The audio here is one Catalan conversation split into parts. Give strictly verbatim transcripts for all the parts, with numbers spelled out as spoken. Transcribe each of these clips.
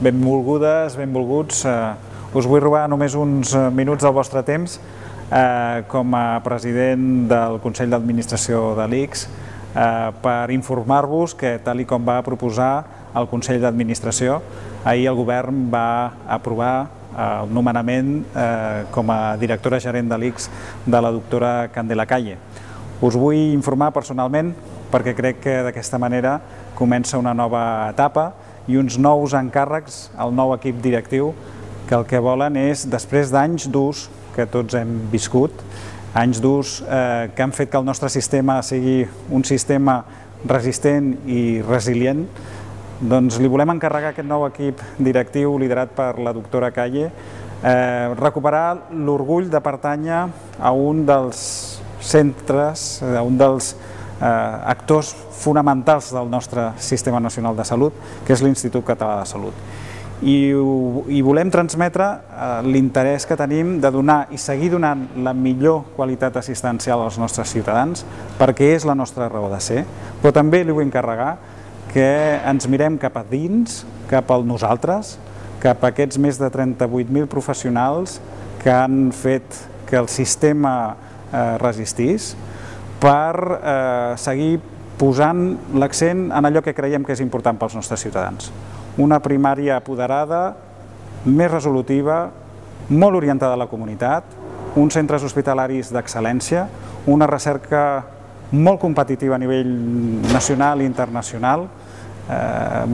benvolgudes, benvolguts. Us vull robar només uns minuts del vostre temps com a president del Consell d'Administració de l'I C S per informar-vos que, tal com va proposar el Consell d'Administració, ahir el govern va aprovar el nomenament com a directora gerent de l'I C S de la doctora Candela Calle. Us vull informar personalment perquè crec que d'aquesta manera comença una nova etapa i uns nous encàrrecs al nou equip directiu que el que volen és, després d'anys durs que tots hem viscut, anys durs que han fet que el nostre sistema sigui un sistema resistent i resilient, doncs li volem encarregar aquest nou equip directiu liderat per la doctora Calle recuperar l'orgull de pertànyer a un dels centres, a un dels actors fonamentals del nostre Sistema Nacional de Salut, que és l'Institut Català de Salut. I volem transmetre l'interès que tenim de donar i seguir donant la millor qualitat assistencial als nostres ciutadans, perquè és la nostra raó de ser, però també li vull encarregar que ens mirem cap a dins, cap al nosaltres, cap a aquests més de trenta-vuit mil professionals que han fet que el sistema resistís, per seguir posant l'accent en allò que creiem que és important pels nostres ciutadans. Una primària apoderada, més resolutiva, molt orientada a la comunitat, uns centres hospitalaris d'excel·lència, una recerca molt competitiva a nivell nacional i internacional,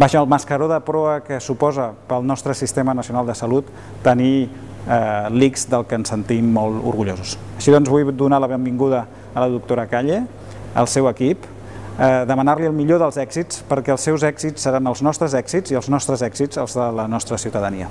baix el mascaró de proa que suposa pel nostre Sistema Nacional de Salut tenir l'I C S del que ens sentim molt orgullosos. Així doncs vull donar la benvinguda a la doctora Calle, al seu equip, demanar-li el millor dels èxits perquè els seus èxits seran els nostres èxits i els nostres èxits els de la nostra ciutadania.